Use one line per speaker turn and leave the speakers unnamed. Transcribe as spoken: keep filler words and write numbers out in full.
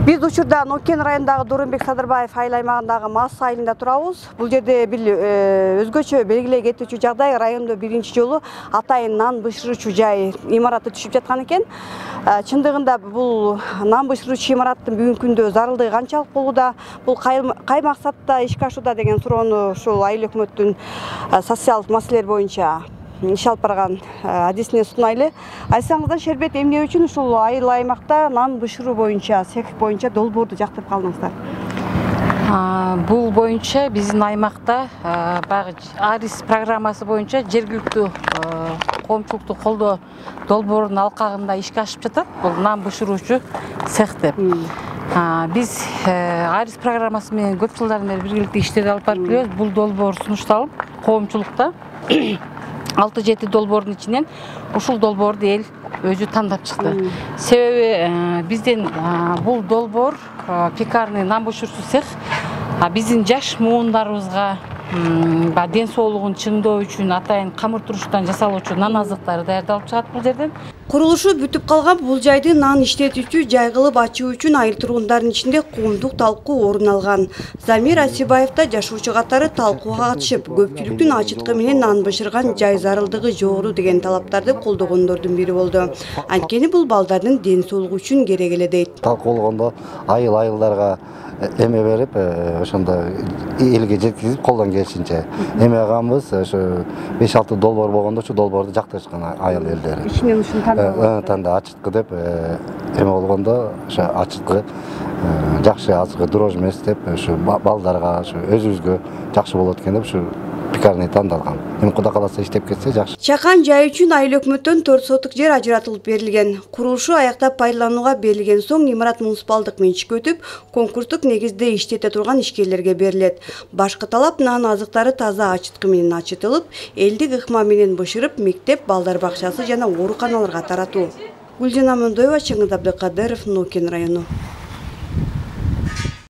Биз учурда Нукен районундагы Дурунбек Садырбаев айыл аймагындагы Мас айылында турабыз. Бул жерде бир өзгөчө белгилей кетүүчү жагдай, райондо биринчи жолу атайын нан бышыруучу жай имараты түшүп жаткан экен. Чындыгында бул нан бышыруучу имараттын бүгүнкү күндө зарылдыгы канчалык болууда, бул кай максатта ишке ашууда деген суроону ушул айыл өкмөттүн социалдык маселелер боюнча иш алып барган адисине сунайлы. Айтсаңыздар, Шербет, эмне үчүн ушул айыл аймакта нан бышыруу боюнча, цех боюнча долбоорду жактырып калдыңыздар?
Бул боюнча биздин аймакта баягы Арис программасы боюнча жергиликтүү коомчулукту колдоо долбоорунун алкагында ишке ашып жатат. Бул нан бышыруучу цех деп. Биз Арис программасы менен көп жылдан бери биргеликте иштерди алып барып келебиз. Бул долбоор сунушталып, коомчулукта алты жети долбоордун ичинен ушул долбоорду эл өзү тандап чыкты. Себеби биздин бул долбоор пекарный нан бышыруучу цех биздин жаш муундарыбызга ден соолугун чыңдоо үчүн атайын камыр туруштан жасалуучу нан азыктары даярдалып чыгат бул жерден.
Курулушу бүтүп калган бул жайды нан иштетүүчү жай кылып ачуу үчүн айыл тургундарынын ичинде коомдук талкуу орун алган. Замир Асибаев да жашоочу катары талкууга катышып, көпчүлүктүн ачыткы менен нан бышырган жай зарылдыгы жогору деген талаптарды колдогондордун бири болду. Анткени бул балдардын ден соолугу үчүн керек эле дейт.
Талкуулогондо айыл айылдарга эме берип, ошондо элге жеткизип колдон келишинче эме агамбыз, ошо беш алты долбоор болгондо ошо долбоорду жактырышкан айыл элдери.
Ичинен ушуну тандап
танда ачыткы деп эме болгондо ошо ачыткы жакшы азыркы дрожь эмес деп ошо балдарга ошо өзүбүзгө жакшы болот экен деп ошо пекарный тандалган. Эми Кудай кааласа иштеп кетсе жакшы.
Чакан жай үчүн айыл өкмөттөн төрт сотук жер ажыратылып берилген. Курулушу аяктап пайдаланууга берилген соң имарат муниципалдык менчикке өтүп, конкурстук негизде иштете турган ишкерлерге берилет. Башкы талап нан азыктары таза ачыткы менен ачытылып, элдик ыкма менен бышырып, мектеп, балдар бакчасы жана ооруканаларга таратуу. Гүлжан Амандоева, Чыңгыз Абдыкадыров, Нукен району.